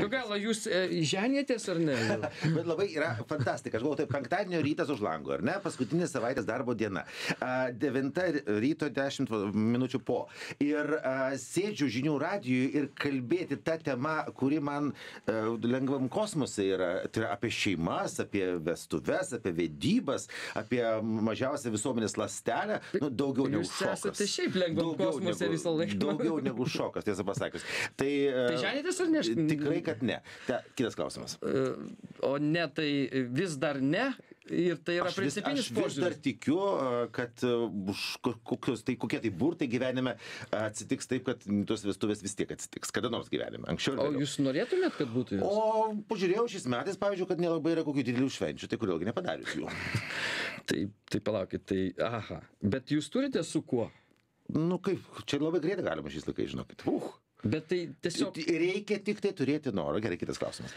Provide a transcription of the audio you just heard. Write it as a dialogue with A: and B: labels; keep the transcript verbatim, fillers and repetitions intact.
A: Gal jūs e, ženėtės ar ne?
B: Bet labai yra fantastika. Aš galvoju, tai penktadienio rytas už lango, ar ne? Paskutinė savaitės darbo diena. Devinta ryto dešimt minučių po. Ir a, sėdžiu žinių radijui ir kalbėti tą temą, kuri man a, lengvam kosmose yra. Tai yra apie šeimas, apie vestuves, apie vedybas, apie mažiausią visuomenės ląstelę. Nu, daugiau negu
A: Jūs
B: šokas.
A: esate šiaip lengvam
B: Daugiau
A: kosmose
B: negu-
A: visą laiką.
B: Daugiau negu šokas, tiesą pasakius. Tai,
A: Tai ženėtės ar ne?
B: Tikrai, kad ne. Ta, kitas klausimas.
A: O ne, tai vis dar ne. Ir tai yra
B: Aš vis,
A: principinis
B: aš vis dar
A: požiūris.
B: tikiu, a, kad a, už ko- kokios, tai kokie tai burtai gyvenime a, atsitiks taip, kad tos vestuvės vis tiek atsitiks. Kada nors gyvenime. Anksčiau ir
A: O
B: vėliau.
A: jūs norėtumėt, kad būtų jūs?
B: O pažiūrėjau šiais metais, pavyzdžiui, kad nelabai yra kokių didelių švenčių, tai kodėlgi nepadarius jų.
A: Tai, tai palaukit, tai aha. Bet jūs turite su kuo?
B: Nu kaip, čia labai greitai galima šiais laikais, žinokit. Uh.
A: Bet tai tiesiog...
B: Reikia tik tai turėti norą. Gerai, kitas klausimas.